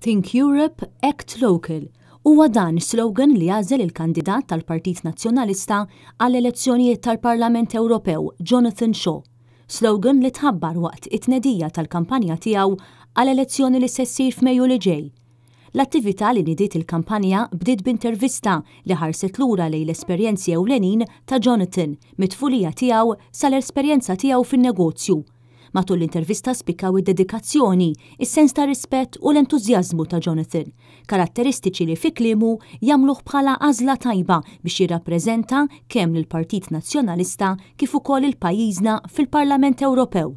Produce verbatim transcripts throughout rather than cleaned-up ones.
Think Europe, Act Local. Huwa dan is-slogan li għażel il-kandidat tal-Partit Nazzjonalista għall-elezzjonijiet tal-Parlament Ewropew, Jonathan Shaw. Slogan li tħabbar waqt it-tnedija tal-kampanja tiegħu għall-elezzjoni li se ssir f'Mejju li ġej. L-attività li nidiet il-kampanja bdiet b'intervista li ħarset lura lejn l-esperjenzi ewlenin ta' Jonathan mit-tfulija tiegħu sal-esperjenza tiegħu fin-negozju. Matul l-intervista spikkaw id-dedikazzjoni, is-sens ta' rispett u l-entużjażmu ta' Jonathan, karatteristiċi li fi kliemu jagħmluh bħala għażla tajba biex jirrappreżenta kemm lill-Partit Nazzjonalista kif ukoll lil pajjiżna fil-Parlament Ewropew.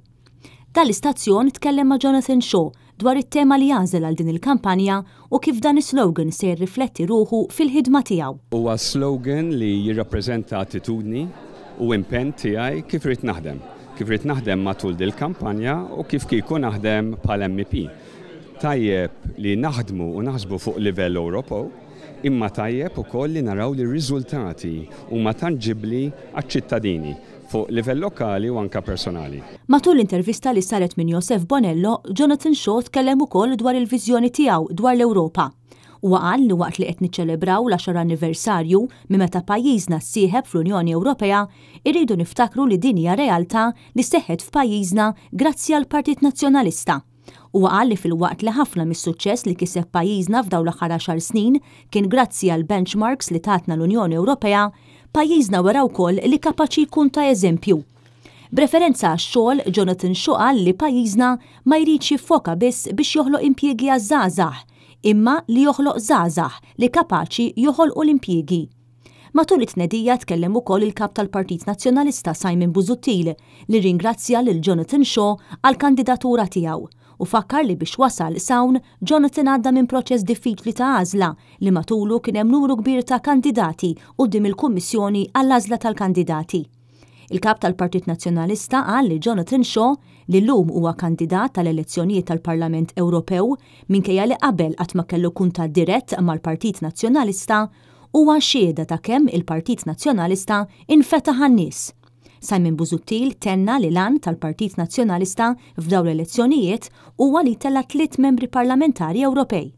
Dan l-istazzjon tkellem ma' Jonathan Shaw dwar it-tema li għażel għal din il-kampanja u kif dan is-slogan se jirrifletti ruħu fil-ħidma tiegħu. Huwa slogan li jirrappreżenta attitudni u impenn tiegħi kif irid naħdem. Kif irid naħdem matul dil-kampanja u kif kieku naħdem bħal M E P. Tajjeb li naħdmu u naħsbu fuq livell Ewropew, imma tajjeb ukoll li naraw li r-riżultati huma tanġibli għaċ-ċittadini fuq livell lokali u anka personali. Matul l-intervista li saret minn Josef Bonello, Jonathan Shaw tkellem ukoll dwar il-viżjoni tiegħu dwar l-Ewropa. Huwa qal li waqt li qed niċċelebraw l-għaxar anniversarju minn meta pajjiżna ssieħeb fl-Unjoni Ewropea, irridu niftakru li din hija realtà li seħħet f'pajjiżna grazzi għal Partit Nazzjonalista. Huwa qal li filwaqt li ħafna mis-suċċess li kiseb pajjiżna f'dawn l-aħħar għaxar snin kien grazzi għal benchmarks li tatna l-Unjoni Ewropea, pajjiżna wera wkoll li kapaċi jkun ta' eżempju. B'referenza għax-xogħol, Jonathan Shaw qal li pajjiżna ma jridx jiffoka biss biex joħloq impjiegi għaż-żgħażagħ, imma li joħloq żgħażagħ li kapaċi joħolqu l-impjiegi. Matul it-tnedija tkellem ukoll il-kap tal-Partit Nazzjonalista Simon Busuttil, li ringrazzja lil Jonathan Shaw għal kandidatura tiegħu u fakkar li biex wasal s'hawn, Jonathan għadda minn proċess diffiċli ta' għażla li matulu kien hemm numru kbir ta' kandidati quddiem il-Kummissjoni għall-għażla tal-kandidati. Il-kap tal-Partit Nazzjonalista qal li Jonathan Shaw, li llum huwa kandidat tal-elezzjonijiet tal-Parlament Ewropew minkejja li qabel qatt ma kellu kuntatt dirett mal-Partit Nazzjonalista, huwa xhieda ta' kemm il-Partit Nazzjonalista infetaħ għan-nies. Simon Busuttil tenna li l-għan tal-Partit Nazzjonalista f'dawn l-elezzjonijiet huwa li jtella' tliet membri parlamentari Ewropej.